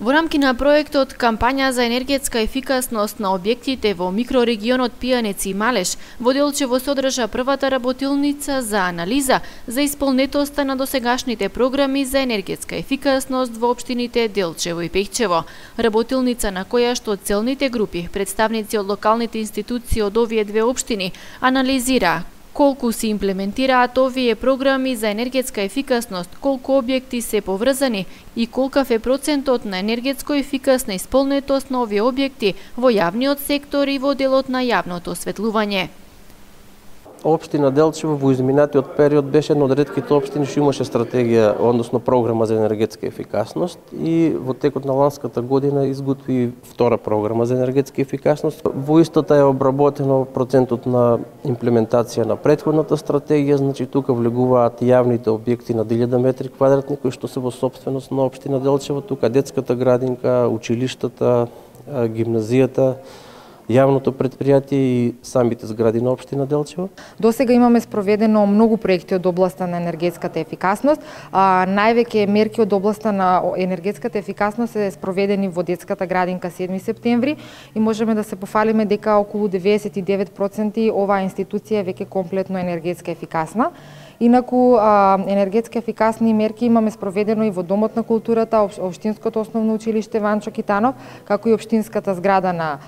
Во рамки на проектот Кампања за енергетска ефикасност на објектите во микрорегионот Пијанец и Малеш, во Делчево се одржа првата работилница за анализа за исполнетоста на досегашните програми за енергетска ефикасност во општините Делчево и Пехчево. Работилница на која што целните групи, представници од локалните институции од овие две општини, анализира колку се имплементираат овие програми за енергетска ефикасност, колку објекти се поврзани и колкав е процентот на енергетско ефикасна исполнетост на овие објекти во јавниот сектор и во делот на јавното осветлување. Општина Делчево во изминатиот период беше една од ретките општини што имаше стратегија, односно програма за енергетска ефикасност, и во текот на ланската година изготви втора програма за енергетска ефикасност. Во истата е обработено процентот на имплементација на претходната стратегија, значи тука влегуваат јавните објекти на 1000 метри квадратни кои што се во сопственост на општина Делчево, тука детската градинка, училиштата, гимназијата, јавното претпријатие и самите згради на општина Делчево. До сега имаме спроведено многу проекти од областа на енергетската ефикасност. Највеќе мерки од областа на енергетската ефикасност се спроведени во детската градинка 7 септември и можеме да се пофалиме дека околу 99% оваа институција е веќе комплетно енергетска ефикасна. Инаку, енергетски ефикасни мерки имаме спроведено и во Домот на културата, Општинското основно училиште Ванчо Китанов, како и Општинската зграда на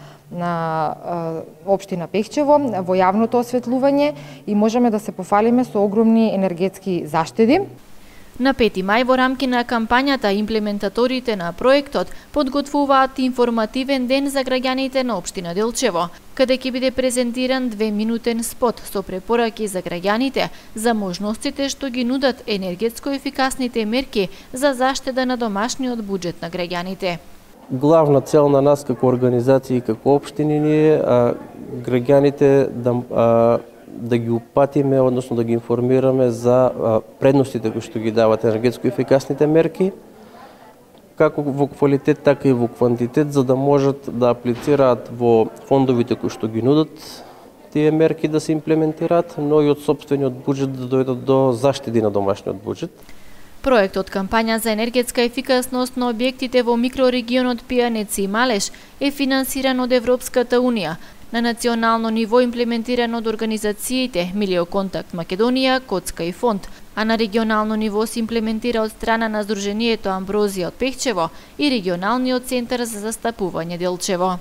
општина Пехчево, во јавното осветлување, и можеме да се пофалиме со огромни енергетски заштеди. На 5 мај во рамки на кампањата имплементаторите на проектот подготвуваат информативен ден за граѓаните на општина Делчево, каде ќе биде презентиран 2-минутен спот со препораки за граѓаните за можностите што ги нудат енергетско ефикасните мерки за заштеда на домашниот буџет на граѓаните. Главна цел на нас како организации и како општини е граѓаните да ги упатиме, односно да ги информираме за предностите кои што ги дават енергетско ефикасните мерки, како во квалитет, така и во квантитет, за да можат да аплицираат во фондовите кои што ги нудат тие мерки да се имплементираат, но и од сопствениот буџет да дојдат до заштеди на домашниот буџет. Проектот Кампања за енергетска ефикасност на објектите во микрорегионот Пијанец и Малеш е финансиран од Европската Унија, на национално ниво имплементиран од организациите Милиоконтакт Македонија, Коцка и Фонд, а на регионално ниво се имплементира од страна на Сдруженијето Амброзија од Пехчево и регионалниот центар за застапување Делчево.